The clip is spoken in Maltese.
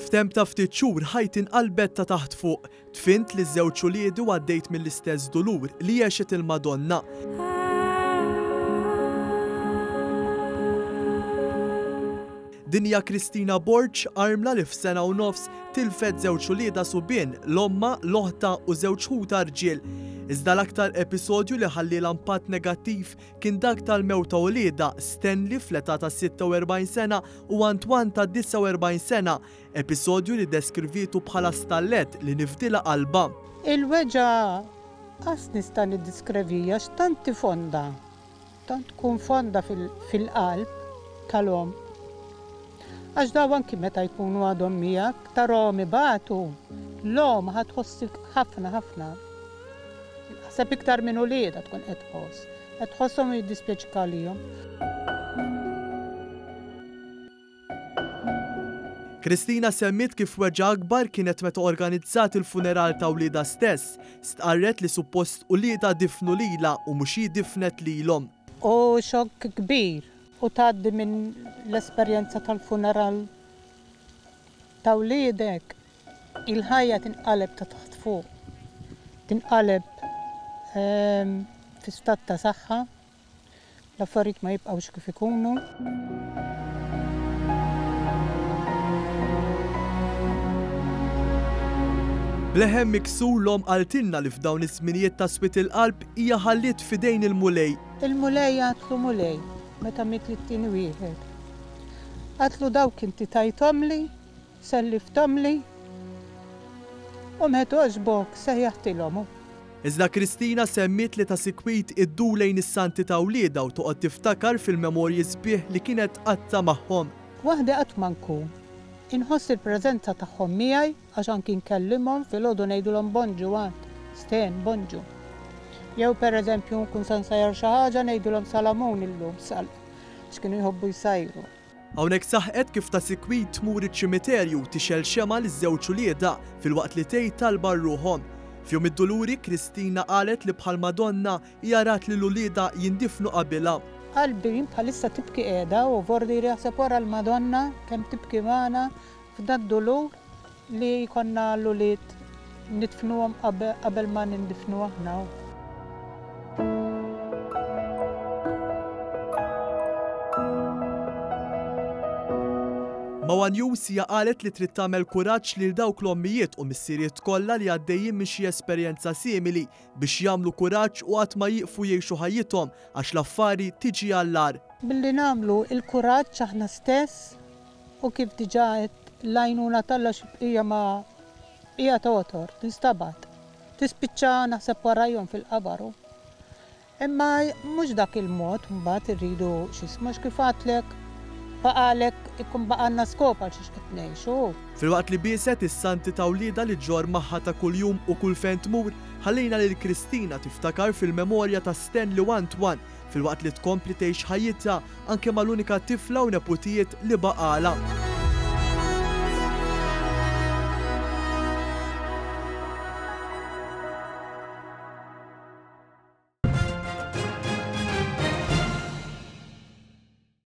F'temp ta' ftit xhur ħajti nqalbet ta' taħt fuq. Dfint liż-żewġ uliedi u għaddejt mill-istess dulur li għexet il-Madonna. Din hija Kristina Borg, armla li f'sena u nofs tilfet żewġ uliedha subien, 'l ommha, 'l oħtha u żewġ ħutha rġiel. Iżda l-aktar episodju li ħallielha impatt negattiv kien dak tal-mewt ta' uliedha, Stanley fl-età ta' 46 sena u Antoine ta' 49 sena, episodju li ddeskrivietu bħala stallett li nifdilha qalbha. Il-weġgħa qas nista' niddiskrevija għax tant hi fonda. Tant tkun fonda fil-qalb tal-omm. Għax daw anki meta jkunu għadhom miegħek, tarahom ibatu, l-omm ħa tħoss ħafna ħafna. Naħseb iktar minn uliedha tkun qed tħoss. Qed tħosshom u jiddispjaċik għalihom. Kristina semmiet kif weġgħa akbar kienet meta organizzat il-funeral ta' wliedha stess. Stqarret li suppost uliedha difnu lilha u mhux hi difnet lilhom. Hu xokk kbir u tgħaddi minn l-esperjenza tal-funeral ta' wliedek, il-ħajja tinqaleb ta' taħt fuq. Tinqaleb fi stat ta' saħħa. L-affarijiet ma jibqgħux kif ikunu. B'leħen miksur l-omm qaltilna li f'dawn iż-żminijiet ta' swied il-qalb hija ħalliet f'idejn il-Mulej. Il-Mulej għadtlu Mulej meta miet lit-tieni wieħed. Għadtlu dawk inti tajthomli Sellifthomli u meta għoġbok sejjaħtilhom. Iżda Kristina semmiet li ta' sikwit iddur lejn is-santi ta' wliedha u toqgħod tiftakar fil-memorji sbieħ li kienet tqatta' magħhom. Waħdi qatt ma nkun. Inħoss il-preżenza tagħhom miegħi għax anki nkellimhom filgħodu ngħidulhom bonġu għand Sten, bonġu. Jew pereżempju nkun se nsajjar xi ħaġa ngħidulhom salamun illum sal għax kienu jħobbu jsajru. Hawnhekk saħqet kif ta' sikwit tmur iċ-ċimiterju u tixgħel xemgħa liż-żewġ uliedha filwaqt li tgħid talba għal ruħhom. F'Jum id-Duluri, Kristina qalet li bħal Madonna hija rat lil uliedha jindifnu qabilha. Qalbi bħalissa tibki qiegħda u vordi jaħseb wara l-Madonna kemm tibki magħna f'dad-dulur Li jkollna l-ulied nidfnuhom qabel ma nindifnu aħna. Ma' one News hija qalet li trid tagħmel kuraġġ lil dawk l-ommijiet u missirijiet kollha li għaddejjin minn xi esperjenza simili biex jagħmlu kuraġġ u qatt ma jieqfu jgħixu ħajjithom għax l-affari tiġi għall-agħar. Billi nagħmlu l-kuraġġ aħna stess U kif diġà għedt, l-għajnuna t'Alla xi bqija ma hija togħtor, tinstabat. Tispiċċa naħseb warajhom fil-qabar hu. Imma mhux dak il-mod mbagħad irridu x'ismu għax kif għadtlek baqagħlek ikun baqgħalna skop għal xiex qed ngħixu hu. Filwaqt li bieset is-santi ta' wliedha li ġġorr magħha ta' kuljum u kull fejn tmur, ħallejna lil Kristina tiftakar fil-memorja ta' Stanley u Antoine filwaqt li tkompli tgħix ħajjitha anke mal-unika tifla u neputijiet li baqgħalha.